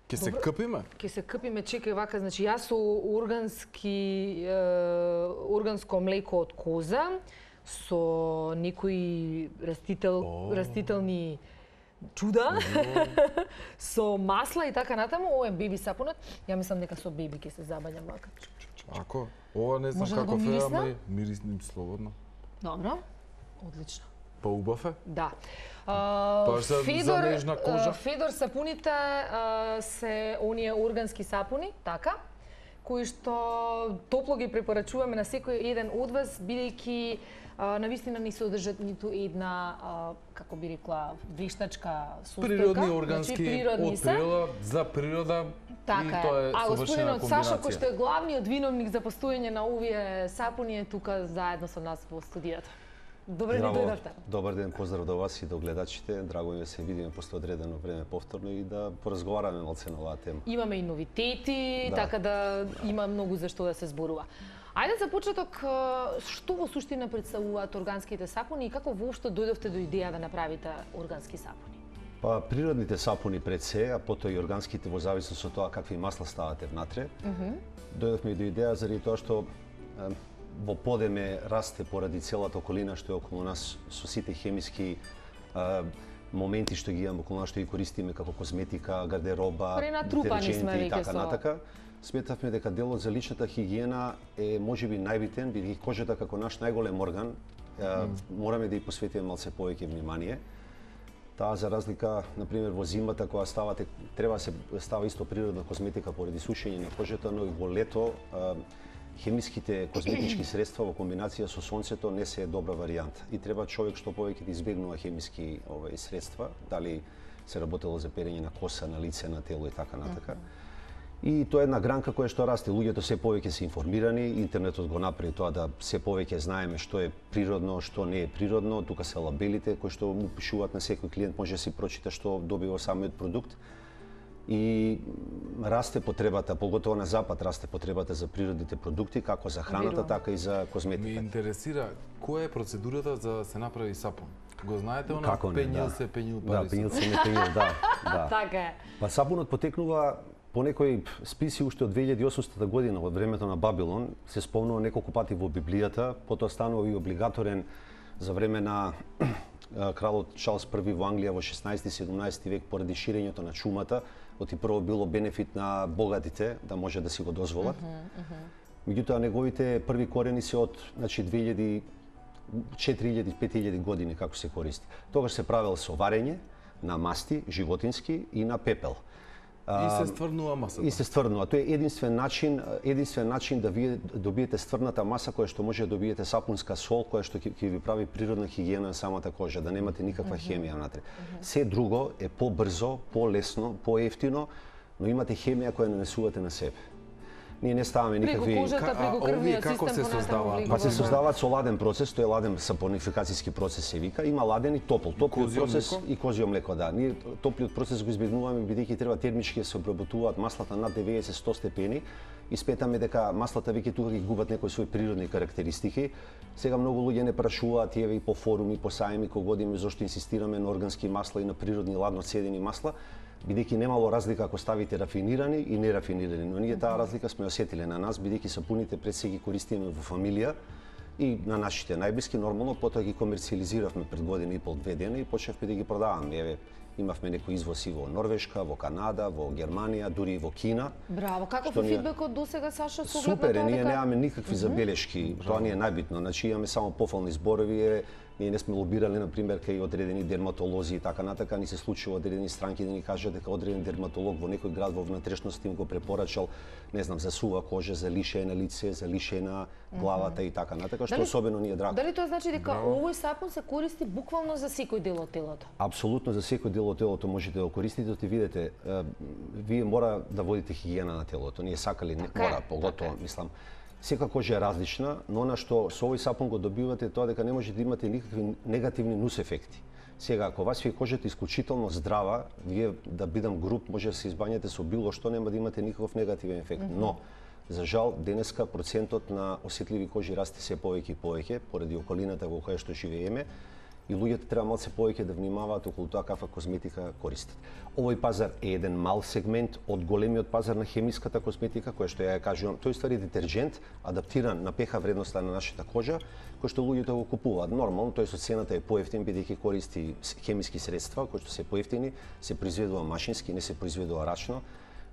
Ке се къпиме? Ке се къпиме, чекај вака, значи јас со органско млеко од коза, со некои растителни чуда, со масла и така натаму, ова е беби сапунот. Ја мислам дека со беби ќе се забањам вака. Ако, ова не знам Може да како го е, мирисна? ама мирисним слободно. Добро, одлично. Па убав е? Да. за нежна кожа? Федор сапуните се оние органски сапуни, така, кои што топло ги препорачуваме на секој еден од вас, бидејќи навистина не содржат ниту една, како би рекла, вештачка состојка. Природни, органски, значи, природни од природа, за природа, така и тоа е совршена господинот комбинација. Сашо, кој што е главниот виновник за постоење на овие сапуни, е тука заедно со нас во студијата. Добре ни дојдовте. Добар ден, поздрав до вас и до гледачите. Драго ми е да се видиме после одредено време повторно и да поразговараме малце на оваа тема. Имаме и новитети, така да има многу за што да се зборува. Ајде за почеток, што во суштина представуваат органските сапуни и како воопшто дојдовте до идеја да направите органски сапуни? Па природните сапуни пред се, а потоа и органските во зависност од тоа какви масла ставате внатре. Дојдовме и до идеја заради тоа што во подеме расте поради целата околина што е околу нас со сите хемиски моменти што ги имаме околу нас, што ги користиме како козметика, гардероба, детерџенти и така натака. Сметавме дека делот за личната хигиена е можеби најбитен, бидејќи кожата како наш најголем орган мораме да ја посветиме малце повеќе внимание. Таа за разлика, например, во зимата кога ставате, треба да се става исто природна козметика поради сушење на кожата, но и во лето хемиските козметички средства во комбинација со сонцето не се е добра варијанта. И треба човек што повеќе да избегнува хемиски средства, дали се работело за перење на коса, на лице, на тело и така натака. И тоа е една гранка која што расте. Луѓето се повеќе се информирани, интернетот го направи тоа да се повеќе знаеме што е природно, што не е природно. Тука се лабелите кои што му пишуваат на секој клиент, може да си прочита што добива самиот продукт. И расте потребата, поготово на запад расте потребата за природните продукти, како за храната, така и за козметиката. Ме интересира, која е процедурата за да се направи сапун? Го знаете, она Како не, пењил да. се, пењил Да, пари се. пењил се, не пењил, да. Така е. Па сапунот потекнува по некои списи уште од 2800 година, од времето на Бабилон, се спомнува неколку пати во Библијата, потоа станува и облигаторен за време на кралот Чарлс I во Англија во 16-17 век поради ширењето на чумата, оти прво било бенефит на богатите да може да си го дозволат. Меѓутоа неговите први корени се од 4000-5000 години како се користи. Тогаш се правел со варење на масти животински и на пепел. И се стврнува масата. И се стврнува. Тоа е единствен начин да вие добиете стврната маса која што може да добиете сапунска сол која што ќе ви прави природна хигиена на самата кожа, да немате никаква хемија внатре. Се друго е побрзо, полесно, поевтино, но имате хемија која нанесувате на себе. Ние не ставаме никакви... Преку кожата, преку крвниот како се систем создаваат? Па се создаваат со ладен процес, тоа е ладен сапонификацијски процес се вика. Има ладен и топол. Топлиот процес млеко? и козјо млеко, да. Ние топлиот процес го избегнуваме бидејќи треба термички да се обработуваат маслата над 90-100 степени и сметаме дека маслата веќе тука ги губат некои своји природни карактеристики. Сега многу луѓе не прашуваат и еве и по форуми, по сајми, кога одиме зошто инсистираме на органски масла и на природни ладно цедени масла, бидејќи немало разлика ако ставите рафинирани и нерафинирани, но ние таа разлика сме осетиле на нас, бидејќи сапуните пред се ги користиме во фамилија и на нашите најблиски, нормално, потоа ги комерцијализиравме пред година и пол, 2 дена и почнавме да ги продаваме. Еве, имавме некои извози во Норвешка, во Канада, во Германија, дури и во Кина. Браво, каков Што е ние- фидбекот досега, Сашо, со оглед на Супер, тоа ние дека- немаме никакви забелешки, тоа ни е најбитно. Значи имаме само пофални зборови, ние не сме лобирали на пример кај одредени дерматолози и така натака, ни се случува одредени странки да ни кажат дека одреден дерматолог во некој град во внатрешноста им го препорачал, не знам, за сува кожа, за лише на лице, за лише на главата и така натака, што Дали- особено ни е драго. Дали тоа значи дека овој сапун се користи буквално за секој дел од телото? Апсолутно за секој дел од телото можете да го користите, ти видите, вие мора да водите хигиена на телото. Ние сакали, Така е, мора, поготово, мислам. Секоја кожа е различна, но она што со овој сапун го добивате е тоа дека не можете да имате никакви негативни нус ефекти. Сега, ако вас ви е кожата исклучително здрава, вие да бидам груб, може да се избањате со било што, нема да имате никаков негативен ефект. Но, за жал, денеска процентот на осетливи кожи расте се повеќе и повеќе, поради околината во која што живееме, и луѓето треба малце повеќе да внимаваат околу тоа каква козметика користат. Овој пазар е еден мал сегмент од големиот пазар на хемиската козметика, која што ја кажувам, тој ствари детерџент адаптиран на pH вредноста на нашата кожа, кој што луѓето го купуваат. Нормално, тој со цената е поевтин бидејќи користи хемиски средства кои што се поевтини, се произведува машински, не се произведува рачно.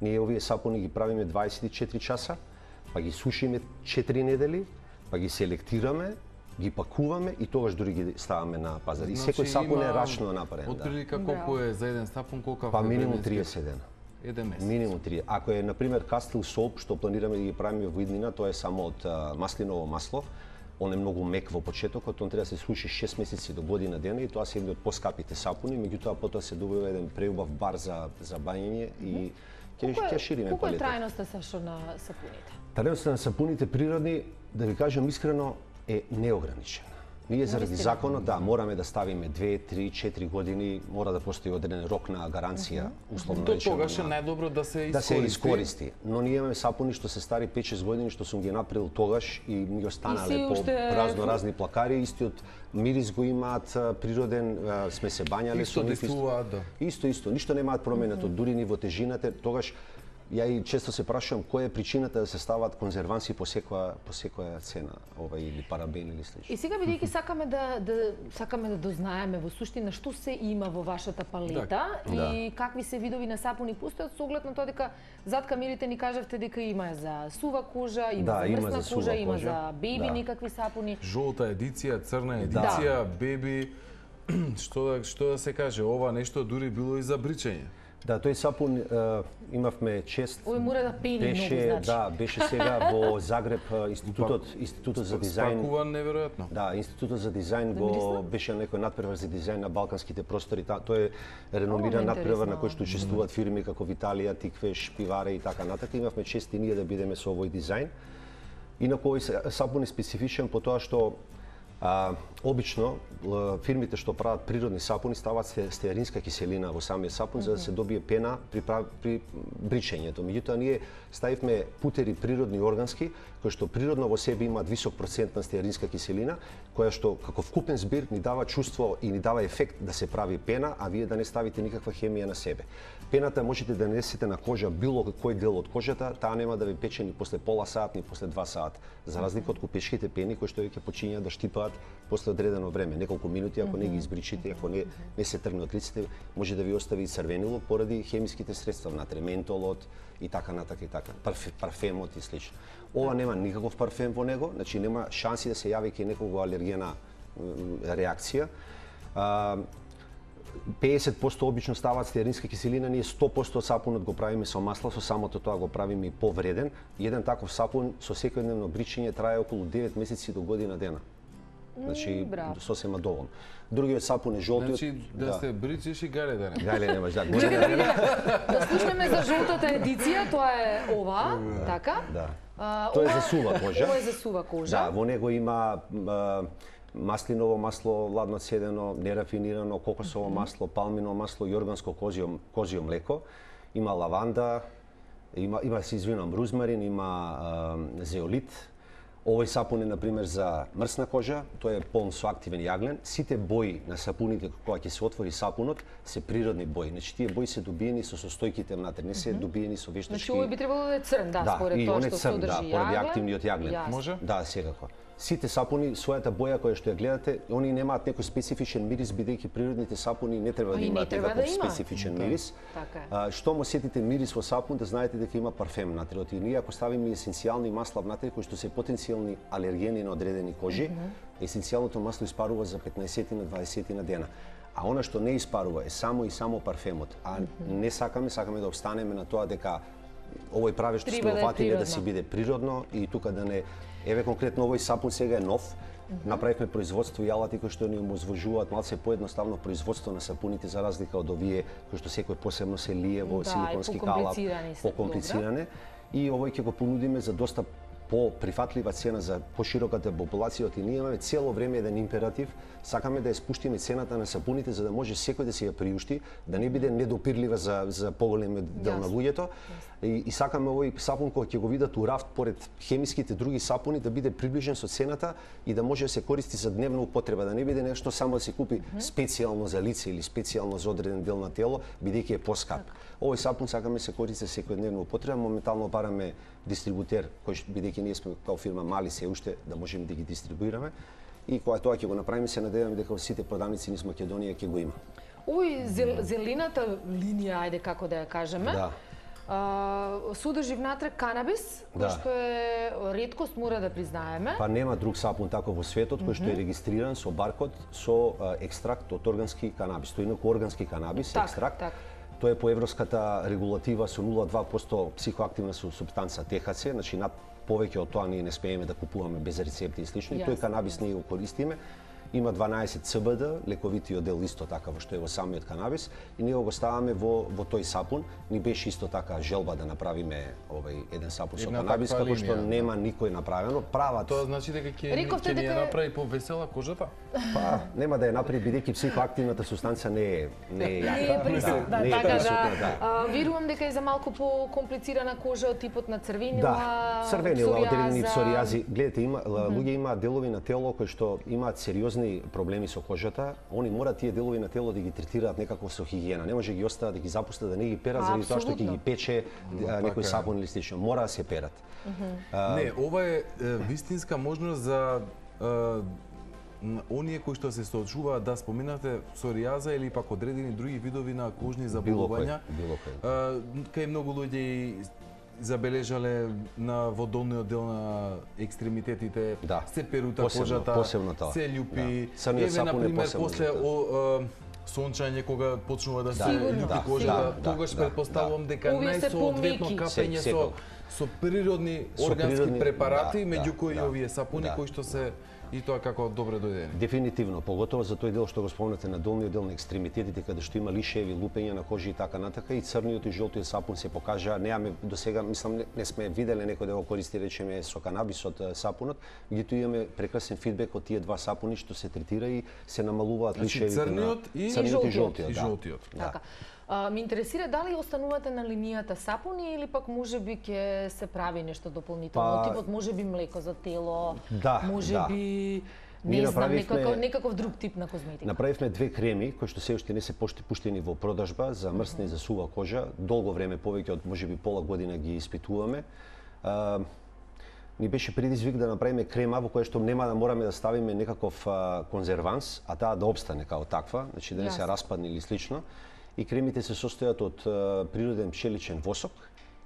Ние овие сапуни ги правиме 24 часа, па ги сушиме 4 недели, па ги селектираме, ги пакуваме и тогаш дури ги ставаме на пазар. И секој сапун е рачно направен. Отприлика колку е за еден сапун, колку Па минимум 30 дена. Еден месец. Минимум 3. Ако е на пример Кастил соп што планираме да ги правиме во иднина, тоа е само од маслиново масло. Он е многу мек во почетокот, он треба да се суши 6 месеци до година дена и тоа се едни од поскапите сапуни, меѓутоа потоа се добива еден преубав бар за бањење и ќе шириме колку е палетот. трајноста Сашо на сапуните? Трајноста на сапуните природни, да ви кажам искрено, е неограничена. Ние заради законот, да, мораме да ставиме 2, 3, 4 години, мора да постои одреден рок на гаранција, условно До речено. тогаш е најдобро да се Да се искористи. Но ние имаме сапуни што се стари 5-6 години, што сум ги направил тогаш и ми останале по разни плакари, истиот мирис го имаат природен, сме се бањале Исто со нив. действуваат, да. Исто, ништо немаат променето, дури ни во тежината, тогаш ја и често се прашувам која е причината да се ставаат конзерванси по секоја цена, или парабен или слично. И сега бидејќи сакаме да дознаеме во суштина што се има во вашата палета и какви се видови на сапуни постојат, со оглед на тоа дека зад камерите ни кажавте дека има за сува кожа, има за мрсна кожа, има за беби никакви сапуни. Жолта едиција, црна едиција, беби, што да се каже, ова нешто дури било и за бричење. Да, тој сапун имавме чест. Овој мора да пени многу, значи. Да, беше сега во Загреб институтот за дизајн. Спакуван неверојатно. Да, институтот за дизајн го беше некој надпревар за дизајн на балканските простори. Тој е реномиран надпревар на кој што учествуваат фирми како Виталија, Тиквеш, Пиваре и така натаму. Имавме чест и ние да бидеме со овој дизајн. Инаку овој сапун е специфичен по тоа што обично фирмите што прават природни сапуни стават стеаринска киселина во самиот сапун за да се добие пена при бричењето. Меѓутоа ние ставивме путери природни органски кои што природно во себе имаат висок процент на стеаринска киселина, која што како вкупен збир ни дава чувство и ни дава ефект да се прави пена, а вие да не ставите никаква хемија на себе. Пената можете да несете на кожа било кој дел од кожата, таа нема да ви пече ни после пола сат, ни после 2 сат, за разлика од купешките пени кои што ќе почињаат да штипаат после одредено време, неколку минути, ако не ги избричите, ако не се тргне од лицето, може да ви остави црвенило поради хемиските средства внатре, ментолот и така натака и така, парфемот и слично. Ова нема никаков парфем во него, значи нема шанси да се јави кај некого алергена реакција. 50% обично ставаат стеаринска киселина, ние 100% од сапунот го правиме со масло, со самото тоа го правиме и повреден. Еден таков сапун со секојдневно бричење трае околу 9 месеци до година дена. Значи, сосема доволно. Другиот сапун е жолтиот. Значи, да се бричиш и гале да не. Гале немаш, да. Да слушнеме за жолтата едиција, тоа е ова, така? Да. Тоа е за сува кожа. Ова е за сува кожа. Да, во него има маслиново масло, ладно цедено, нерафинирано, кокосово масло, палминово масло и органско козјо млеко. Има лаванда, има се извинувам, рузмарин, има зеолит. Овој сапун е, например, за мрсна кожа, тој е полн со активен јаглен. Сите бои на сапуните кога ќе се отвори сапунот се природни бои. Значи тие бои се добиени со состојките внатре, не се добиени со вештачки. Значи овој би требало да е црн, да, според тоа што содржи јаглен. Да, поради активниот јаглен. Може? Да, секако. Сите сапуни, својата боја која што ја гледате, они немаат некој специфичен мирис, бидејќи природните сапуни не треба да имаат некој специфичен мирис. Што му сетите мирис во сапун, да знаете дека има парфем внатре. И ние ако ставиме есенцијални масла внатре кои што се потенцијални алергени на одредени кожи, есенцијалното масло испарува за 15 на 20 на дена. А она што не испарува е само и само парфемот. А не сакаме да обстанеме на тоа дека овој правиш што сме фатиле да си биде природно и тука да не. Еве конкретно овој сапун сега е нов. Направивме производство и алати кои што ни оможувуваат малце поедноставно производство на сапуните за разлика од овие кои што секој посебно се лие во силиконски калап, покомплициране. И овој ќе го понудиме за доста по-прифатлива цена за пошироката популација, и ние имаме цело време еден императив, сакаме да ја спуштиме цената на сапуните за да може секој да си ја приушти, да не биде недопирлива за поголемиот дел на луѓето. И сакаме овој сапун кој ќе го видат у рафт поред хемиските други сапуни да биде приближен со цената и да може да се користи за дневна употреба, да не биде нешто само да се купи специјално за лице или специјално за одреден дел на тело, бидејќи е поскап. Овој сапун сакаме се користи за секојдневна употреба. Моментално бараме дистрибутер кој бидејќи ние сме као фирма мали се уште да можеме да ги дистрибуираме. И кога тоа ќе го направиме, се надеваме дека во сите продавници низ Македонија ќе го има. Овој зелената линија, ајде како да ја кажеме, содржи внатре канабис, кој што е реткост, мора да признаеме. Па нема друг сапун таков во светот кој што е регистриран со баркод со екстракт од органски канабис. Тој инаку органски канабис, екстракт. Тоа е по европската регулатива со 0,2% психоактивна супстанца ТХЦ, значи над повеќе од тоа ние не смееме да купуваме без рецепти и слично. И тој канабис ние го користиме. Има 12 ЦБД, лековитиот дел исто така во што е во самиот канабис, и ние го ставаме во тој сапун. Ни беше исто така желба да направиме еден сапун со канабис, како што нема никој направено. Прават. Тоа значи дека ќе ни ја направи повесела кожата? Па нема да ја направи бидејќи психоактивната субстанца не е јака. Не е присутна, така да. Верувам дека е за малку по-комплицирана кожа од типот на црвенила, црвенила, одредени псоријази. Гледате, луѓе има делови на тело кои што имаат сериозни проблеми со кожата, они мора тие делови на тело да ги третираат некако со хигиена. Не може ги остават да ги запустат да не ги перат заради тоа што ќе ги пече некој сапун или слично. Мора да се перат. Не, ова е вистинска можност за оние кои што се соочуваат, да споменате псоријаза или пак одредени други видови на кожни заболувања. Кај многу луѓе забележале во долниот дел на екстремитетите, се перута кожата, се љупи. Еве, например, после сончање, кога почнува да се љупи кожата, тогаш предпоставувам дека најсоодветно капење со природни органски препарати, меѓу кои овие сапуни кои што се и тоа како добре дојдени. Дефинитивно, поготово за тој дел што го спомнате на долниот дел на екстремитетите, каде што има лишеви, лупење на кожи и така натака, и црниот и жолтиот сапун се покажа. Неаме досега, мислам, не сме виделе некој да го користи, речеме, со канабисот сапунот, меѓутоа имаме прекрасен фидбек од тие два сапуни што се третира и се намалуваат лишевите на црниот и жолтиот. Така. Ме интересира дали останувате на линијата сапуни или пак можеби ќе се прави нешто дополнително, типот можеби млеко за тело, можеби не знам, некаков друг тип на козметика. Направивме две креми кои што се уште не се пуштени во продажба за мрсна и за сува кожа. Долго време, повеќе од можеби пола година ги испитуваме. Ни беше предизвик да направиме крема во која што нема да мораме да ставиме некаков конзерванс, а таа да обстане као таква, значи да не се распадне или слично. И кремите се состојат од природен пчеличен восок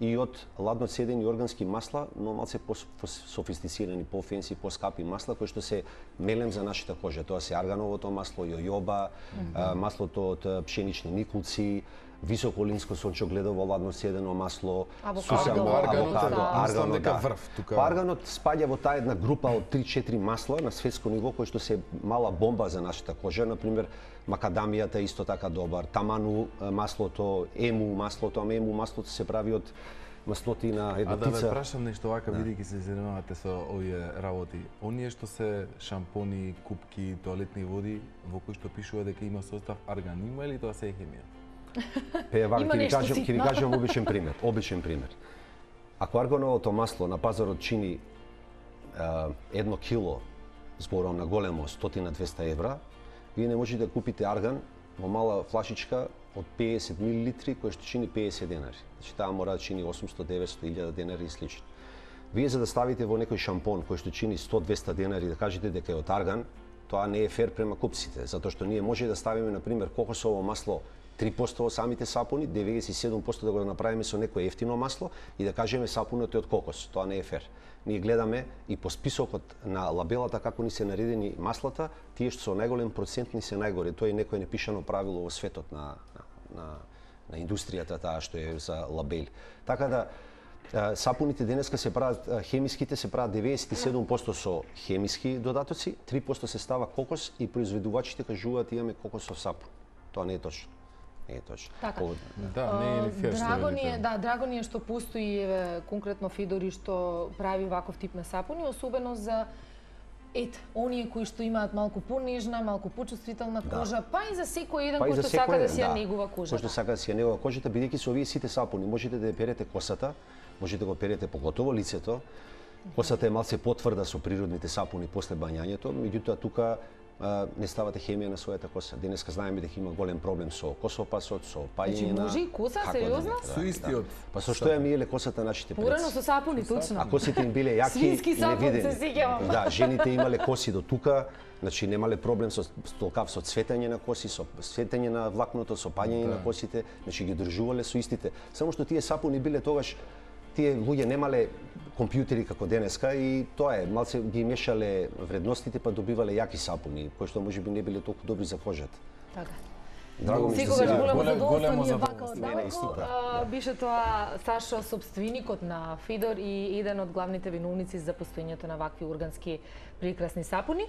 и од ладно цедени органски масла, но малце по-софистицирани, по-фенси, по-скапи масла кои што се мелем за нашата кожа. Тоа се аргановото масло, јојоба, маслото од пшенични никулци, високолинско сончогледово ладно цедено масло, авокадо, арганот спаѓа во таа една група од 3-4 масла на светско ниво кои што се мала бомба за нашата кожа, например макадамијата исто така добар, таману маслото, ему маслото, ама ему маслото се прави од маслоти на една птица. А да ве прашам нешто вака, бидејќи се занимавате со овие работи. Оние што се шампони, купки, тоалетни води, во кои што пишува дека има состав арган, има или тоа се е хемија? Ќе ви кажам обичен пример. Ако аргановото масло на пазарот чини 1 кило, зборам на големо 100-200 евра, вие не можете да купите арган во мала флашичка од 50 милилитри кој што чини 50 денари. Значи таа мора да чини 800, 900, 1000 денари и слично. Вие за да ставите во некој шампон кој што чини 100-200 денари да кажете дека е од арган, тоа не е фер према купците, затоа што ние може да ставиме на пример кокосово масло 3% во самите сапуни, 97% да го направиме со некое ефтино масло и да кажеме сапунот е од кокос. Тоа не е фер. Ние гледаме и по списокот на лабелата како ни се наредени маслата, тие што со најголем процент ни се најгори. Тоа е некое непишано правило во светот на индустријата таа што е за лабели. Така да сапуните денеска се прават, хемиските се прават 97% со хемиски додатоци, 3% се става кокос и произведувачите кажуваат имаме кокосов сапун. Тоа не е точно. Не е точно. Така. Да, не е ли фер што драго ни е, велите. да, драго ни е што постои конкретно Фидори што прави ваков тип на сапуни, особено за оние кои што имаат малку понежна, малку почувствителна кожа, па и за секој еден кој што сака да си ја негува кожата. Кој што сака да си ја негува кожата, бидејќи со овие сите сапуни можете да ја перете косата, можете да го перете поготово лицето. Косата е малце потврда со природните сапуни после бањањето, меѓутоа тука не ставате хемија на својата коса. Денеска знаеме дека има голем проблем со косопасот, со паѓање на... Може и коса, сериозно? Со истиот. Па со што ја миеле косата нашите предци? Порано со сапуни, точно. А косите им биле јаки Свински и сапун, невидени. се сеќавам. Да, жените имале коси до тука, значи немале проблем со толкав со цветење на коси, со цветење на влакното, со паѓање на косите, значи ги држувале со истите. Само што тие сапуни биле тогаш, тие луѓе немале компјутери како денеска и тоа е, малце ги мешале вредностите па добивале јаки сапуни, кои што можеби не биле толку добри за кожата. Така. Драго ми што Секогаш си големо задоволство ни е вака исто одамко. Беше тоа Сашо, сопственикот на Фидор и еден од главните виновници за постоењето на вакви ургански прекрасни сапуни.